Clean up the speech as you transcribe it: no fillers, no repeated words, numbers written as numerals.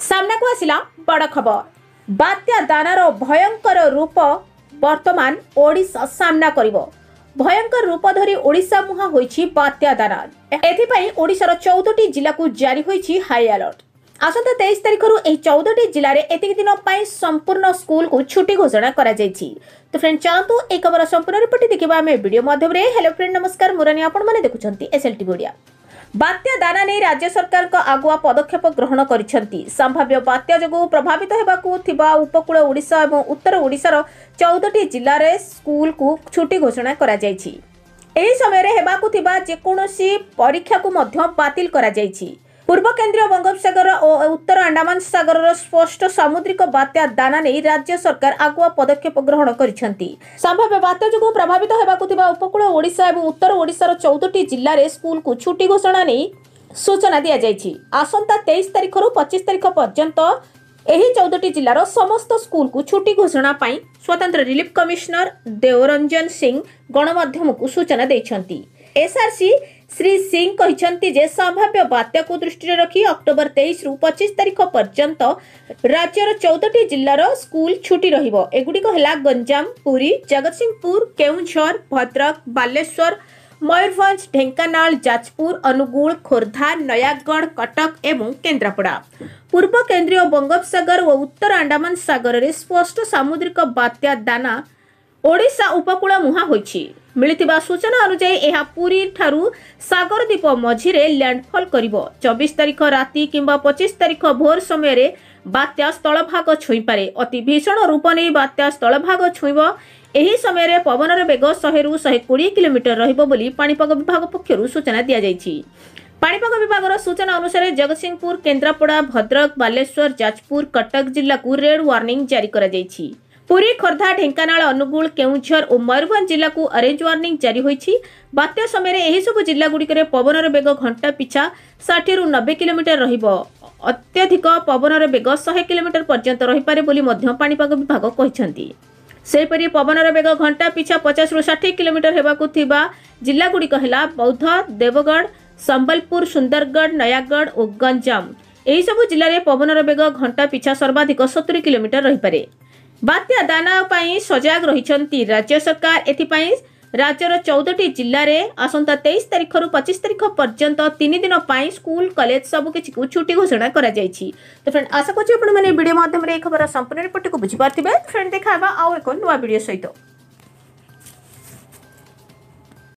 ସାମ୍ନାକୁ ଆସିଲା ବଡ଼ ଖବର। ବାତ୍ୟା ଦାନାର ଭୟଙ୍କର ରୂପ ବର୍ତ୍ତମାନ ଓଡ଼ିଶା ସାମ୍ନା କରିବ। ଭୟଙ୍କର ରୂପ ଧରି ଓଡ଼ିଶା ମୁହାଁ ହୋଇଛି ବାତ୍ୟା ଦାନା। ଏଥିପାଇଁ ଓଡ଼ିଶାର 14ଟି ଜିଲ୍ଲାକୁ ଜାରି ହୋଇଛି ହାଇ ଆଲର୍ଟ। ଆସନ୍ତା 23 ତାରିଖରୁ ଏହି 14ଟି ଜିଲ୍ଲାରେ ଏତିକି ଦିନ ପାଇଁ ସମ୍ପୂର୍ଣ୍ଣ ସ୍କୁଲକୁ ଛୁଟି ଘୋଷଣା କରାଯାଇଛି। ତ ଫ୍ରେଣ୍ଡ, ଚାଲନ୍ତୁ ଏହି ଖବର ସମ୍ପୂର୍ଣ୍ଣ ରିପୋର୍ଟ ଦେଖିବା ଆମେ ଭିଡ଼ିଓ ମାଧ୍ୟମରେ। ହ୍ୟାଲୋ ଫ୍ରେଣ୍ଡ, ନମସ୍କାର, ମୁରାନୀ, ଆପଣମାନେ ଦେଖୁଛନ୍ତି ଏସ୍ଏଲ୍ଟିଭି ଓଡ଼ିଆ। ବାତ୍ୟା ଦାନା ନେଇ ରାଜ୍ୟ ସରକାରଙ୍କ ଆଗୁଆ ପଦକ୍ଷେପ ଗ୍ରହଣ କରିଛନ୍ତି। ସମ୍ଭାବ୍ୟ ବାତ୍ୟା ଯୋଗୁଁ ପ୍ରଭାବିତ ହେବାକୁ ଥିବା ଉପକୂଳ ଓଡ଼ିଶା ଏବଂ ଉତ୍ତର ଓଡ଼ିଶାର 14ଟି ଜିଲ୍ଲାରେ ସ୍କୁଲକୁ ଛୁଟି ଘୋଷଣା କରାଯାଇଛି। ଏହି ସମୟରେ ହେବାକୁ ଥିବା ଯେକୌଣସି ପରୀକ୍ଷାକୁ ମଧ୍ୟ ବାତିଲ କରାଯାଇଛି। ପୂର୍ବ କେନ୍ଦ୍ରୀୟ ବଙ୍ଗୋପସାଗର ଓ ଉତ୍ତର ଆଣ୍ଡାମାନ ସାଗରର ସ୍ପଷ୍ଟ ସାମୁଦ୍ରିକ ବାତ୍ୟା ଦାନା ନେଇ ରାଜ୍ୟ ସରକାର ଆଗୁଆ ପଦକ୍ଷେପ ଗ୍ରହଣ କରିଛନ୍ତି। ସମ୍ଭାବ୍ୟ ବାତ୍ୟା ଯୋଗୁଁ ପ୍ରଭାବିତ ହେବାକୁ ଥିବା ଉପକୂଳ ଓଡ଼ିଶା ଏବଂ ଉତ୍ତର ଓଡ଼ିଶାର 14ଟି ଜିଲ୍ଲାରେ ସ୍କୁଲକୁ ଛୁଟି ଘୋଷଣା ନେଇ ସୂଚନା ଦିଆଯାଇଛି। ଆସନ୍ତା 23 ତାରିଖରୁ 25 ତାରିଖ ପର୍ଯ୍ୟନ୍ତ ଏହି 14ଟି ଜିଲ୍ଲାର ସମସ୍ତ ସ୍କୁଲକୁ ଛୁଟି ଘୋଷଣା ପାଇଁ ସ୍ୱତନ୍ତ୍ର ରିଲିଫ କମିଶନର ଦେଓରଞ୍ଜନ ସିଂ ଗଣମାଧ୍ୟମକୁ ସୂଚନା ଦେଇଛନ୍ତି। ଏସ୍ଆରସି ଶ୍ରୀ ସିଂ କହିଛନ୍ତି ଯେ ସମ୍ଭାବ୍ୟ ବାତ୍ୟାକୁ ଦୃଷ୍ଟିରେ ରଖି ଅକ୍ଟୋବର 23ରୁ 25 ତାରିଖ ପର୍ଯ୍ୟନ୍ତ ରାଜ୍ୟର 14ଟି ଜିଲ୍ଲାର ସ୍କୁଲ ଛୁଟି ରହିବ। ଏଗୁଡ଼ିକ ହେଲା ଗଞ୍ଜାମ, ପୁରୀ, ଜଗତସିଂହପୁର, କେଉଁଝର, ଭଦ୍ରକ, ବାଲେଶ୍ୱର, ମୟୂରଭଞ୍ଜ, ଢେଙ୍କାନାଳ, ଯାଜପୁର, ଅନୁଗୁଳ, ଖୋର୍ଦ୍ଧା, ନୟାଗଡ଼, କଟକ ଏବଂ କେନ୍ଦ୍ରାପଡ଼ା। ପୂର୍ବ କେନ୍ଦ୍ରୀୟ ବଙ୍ଗୋପସାଗର ଓ ଉତ୍ତର ଆଣ୍ଡାମାନ ସାଗରରେ ସ୍ପଷ୍ଟ ସାମୁଦ୍ରିକ ବାତ୍ୟା ଦାନା ଓଡ଼ିଶା ଉପକୂଳ ମୁହାଁ ହୋଇଛି। ମିଳିଥିବା ସୂଚନା ଅନୁଯାୟୀ ଏହା ପୁରୀ ଠାରୁ ସାଗରଦ୍ୱୀପ ମଝିରେ ଲ୍ୟାଣ୍ଡଫଲ୍ କରିବ। 24 ତାରିଖ ରାତି କିମ୍ବା 25 ତାରିଖ ଭୋର ସମୟରେ ବାତ୍ୟା ସ୍ଥଳଭାଗ ଛୁଇଁପାରେ। ଅତି ଭୀଷଣ ରୂପ ନେଇ ବାତ୍ୟା ସ୍ଥଳଭାଗ ଛୁଇଁବ। ଏହି ସମୟରେ ପବନର ବେଗ 100ରୁ 120 କିଲୋମିଟର ରହିବ ବୋଲି ପାଣିପାଗ ବିଭାଗ ପକ୍ଷରୁ ସୂଚନା ଦିଆଯାଇଛି। ପାଣିପାଗ ବିଭାଗର ସୂଚନା ଅନୁସାରେ ଜଗତସିଂହପୁର, କେନ୍ଦ୍ରାପଡ଼ା, ଭଦ୍ରକ, ବାଲେଶ୍ୱର, ଯାଜପୁର, କଟକ ଜିଲ୍ଲାକୁ ରେଡ୍ ୱାର୍ଣ୍ଣିଂ ଜାରି କରାଯାଇଛି। ପୁରୀ, ଖୋର୍ଦ୍ଧା, ଢେଙ୍କାନାଳ, ଅନୁଗୁଳ, କେଉଁଝର ଓ ମୟୂରଭଞ୍ଜ ଜିଲ୍ଲାକୁ ଅରେଞ୍ଜ ୱାର୍ଣ୍ଣିଂ ଜାରି ହୋଇଛି। ବାତ୍ୟା ସମୟରେ ଏହିସବୁ ଜିଲ୍ଲାଗୁଡ଼ିକରେ ପବନର ବେଗ ଘଣ୍ଟା ପିଛା 60ରୁ 90 କିଲୋମିଟର ରହିବ। ଅତ୍ୟଧିକ ପବନର ବେଗ 100 କିଲୋମିଟର ପର୍ଯ୍ୟନ୍ତ ରହିପାରେ ବୋଲି ମଧ୍ୟ ପାଣିପାଗ ବିଭାଗ କହିଛନ୍ତି। ସେହିପରି ପବନର ବେଗ ଘଣ୍ଟା ପିଛା 50ରୁ 60 କିଲୋମିଟର ହେବାକୁ ଥିବା ଜିଲ୍ଲାଗୁଡ଼ିକ ହେଲା ବୌଦ୍ଧ, ଦେବଗଡ଼, ସମ୍ବଲପୁର, ସୁନ୍ଦରଗଡ଼, ନୟାଗଡ଼ ଓ ଗଞ୍ଜାମ। ଏହିସବୁ ଜିଲ୍ଲାରେ ପବନର ବେଗ ଘଣ୍ଟା ପିଛା ସର୍ବାଧିକ 70 କିଲୋମିଟର ରହିପାରେ। ବାତ୍ୟା ଦାନା ପାଇଁ ସଜାଗ ରହିଛନ୍ତି ରାଜ୍ୟ ସରକାର। ଏଥିପାଇଁ ରାଜ୍ୟର 14ଟି ଜିଲ୍ଲାରେ ଆସନ୍ତା 23 ତାରିଖରୁ 25 ତାରିଖ ପର୍ଯ୍ୟନ୍ତ 3 ଦିନ ପାଇଁ ସ୍କୁଲ, କଲେଜ ସବୁକିଛିକୁ ଛୁଟି ଘୋଷଣା କରାଯାଇଛି। ତ ଫ୍ରେଣ୍ଡ, ଆଶା କରୁଛି ଆପଣମାନେ ଭିଡ଼ିଓ ମାଧ୍ୟମରେ ଏହି ଖବର ସମ୍ପୂର୍ଣ୍ଣ ରିପୋର୍ଟଟିକୁ ବୁଝିପାରିଥିବେ। ଫ୍ରେଣ୍ଡ, ଦେଖା ହେବା ଆଉ ଏକ ନୂଆ ଭିଡ଼ିଓ ସହିତ।